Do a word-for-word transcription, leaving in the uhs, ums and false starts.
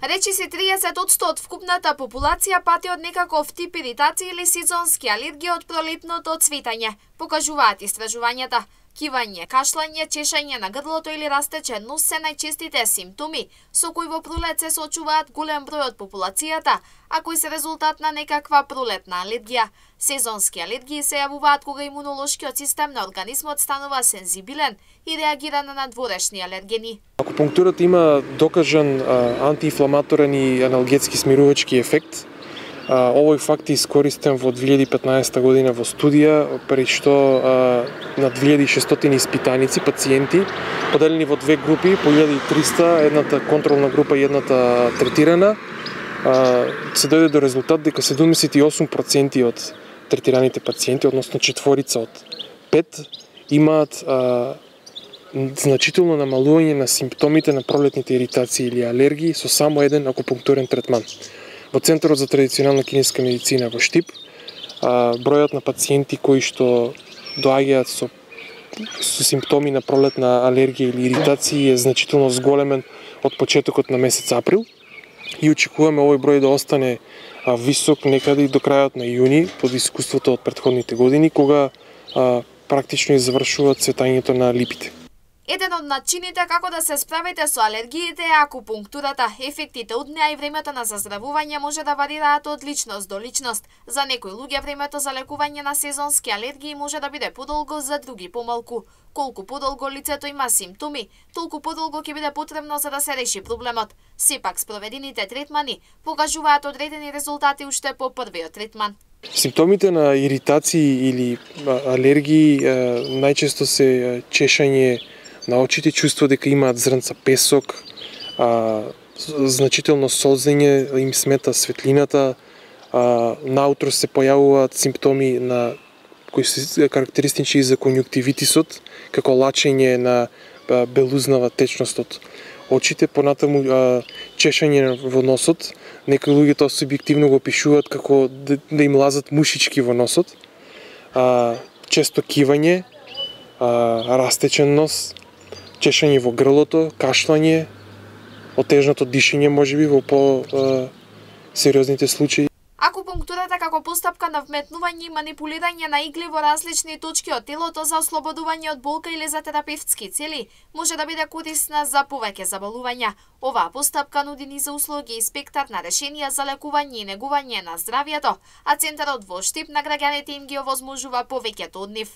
Речиси триесет одсто од вкупната популација пати од некаков тип иритација или сезонски алергија од пролетното цветање, покажуваат истражувањата. Кивање, кашлање, чешање на грлото или растечен нос се најчестите симптоми со кои во пролет се соочуваат голем број од популацијата, а кои се резултат на некаква пролетна алергија. Сезонски алергии се јавуваат кога имунолошкиот систем на организмот станува сензибилен и реагира на надворешни алергени. Акупунктурата има докажан а, антиинфламаторен и аналгетски смирувачки ефект. А, овој факт е искористен во две илјади и петнаесета година во студија, при што а, на две илјади и шестстотини испитаници, пациенти, поделени во две групи, по илјада и триста, едната контролна група и едната третирана, а, се дојде до резултат дека седумдесет и осум проценти од третираните пациенти, односно четворица од пет, имаат а, значително намалување на симптомите на пролетните иритации или алергии со само еден акупунктурен третман. Во Центарот за традиционална кинеска медицина во Штип, а, бројот на пациенти кои што доаѓаат со, со симптоми на пролетна алергија или иритации е значително зголемен од почетокот на месец април и очекуваме овој број да остане а, висок некаде и до крајот на јуни под искуството од претходните години, кога а, практично завршува цветањето на липите. Еден од начините како да се справите со алергиите е акупунктурата. Ефектите од неа и времето на заздравување може да варираат од личност до личност. За некои луѓе времето за лекување на сезонски алергии може да биде подолго, за други помалку. Колку подолго лицето има симптоми, толку подолго ќе биде потребно за да се реши проблемот. Сепак спроведените третмани покажуваат одредени резултати уште по првиот третман. Симптомите на иритации или алергии најчесто се чешање на очите, чувство дека имаат зрнца песок, а, значително солзење, им смета светлината, а, наутро се појавуваат симптоми на кои се карактеристични за конјуктивитисот, како лачење на а, белузнава течност од очите, понатаму а, чешање во носот. Некои луѓе тоа субјективно го опишуваат како да, да им лазат мушички во носот, а, често кивање, а, растечен нос, чешање во грлото, кашлање, отежното дишење можеби во по-сериозните случаи. Акупунктурата како постапка на вметнување и манипулирање на игли во различни точки од телото за ослободување од болка или за терапевтски цели може да биде корисна за повеќе заболувања. Оваа постапка нуди низа услуги и спектар на решенија за лекување и негување на здравјето, а Центарот во Штип на граѓаните им ги овозможува повеќето од нив.